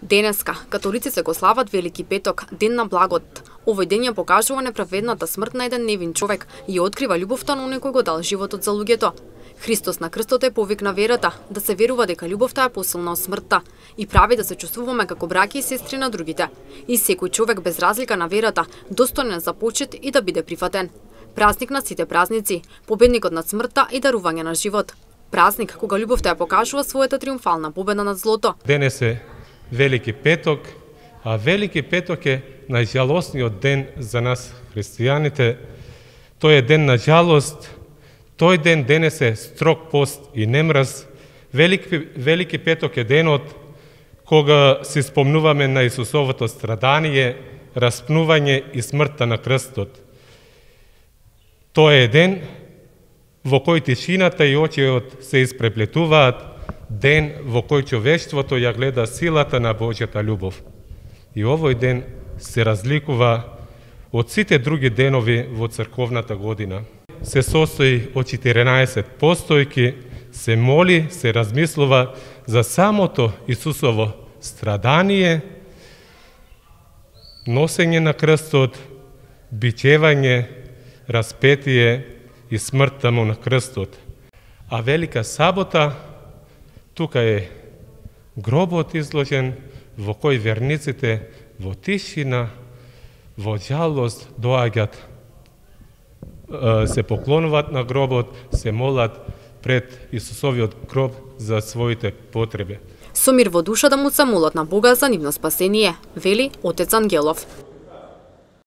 Денеска, католиците го слават Велики петок, ден на благот. Овој ден ја покажува неправедната смрт на еден невин човек и открива љубовта на оној кој го дал животот за луѓето. Христос на крстот е повик на верата, да се верува дека љубовта е посилна од смртта и прави да се чувствуваме како браќа и сестри на другите. И секој човек без разлика на верата, достоен за почит и да биде прифатен. Празник на сите празници, победникот над смртта и дарување на живот. Празник кога љубовта ја покажува својата триумфална победа над злото. Денес е Велики петок, а Велики петок е најжалосниот ден за нас христијаните. Тој е ден на жалост. Тој ден денес е строг пост и немраз. Велики петок е денот кога се спомнуваме на Исусовото страдание, распнување и смртта на крстот. Тој е ден во кој тишината и очиот се испреплетуваат, ден во кој човештвото ја гледа силата на Божјата љубов. И овој ден се разликува од сите други денови во црковната година. Се состои од 14 постојки, се моли, се размислува за самото Исусово страдание, носење на крстот, бичевање, распетие и смртта му на крстот. А Велика сабота, тука е гробот изложен во кој верниците во тишина, во жалост доаѓаат, се поклонуваат на гробот, се молат пред Исусовиот гроб за своите потреби. Со мир во душа да му се молат на Бога за нивно спасение, вели отец Ангелов.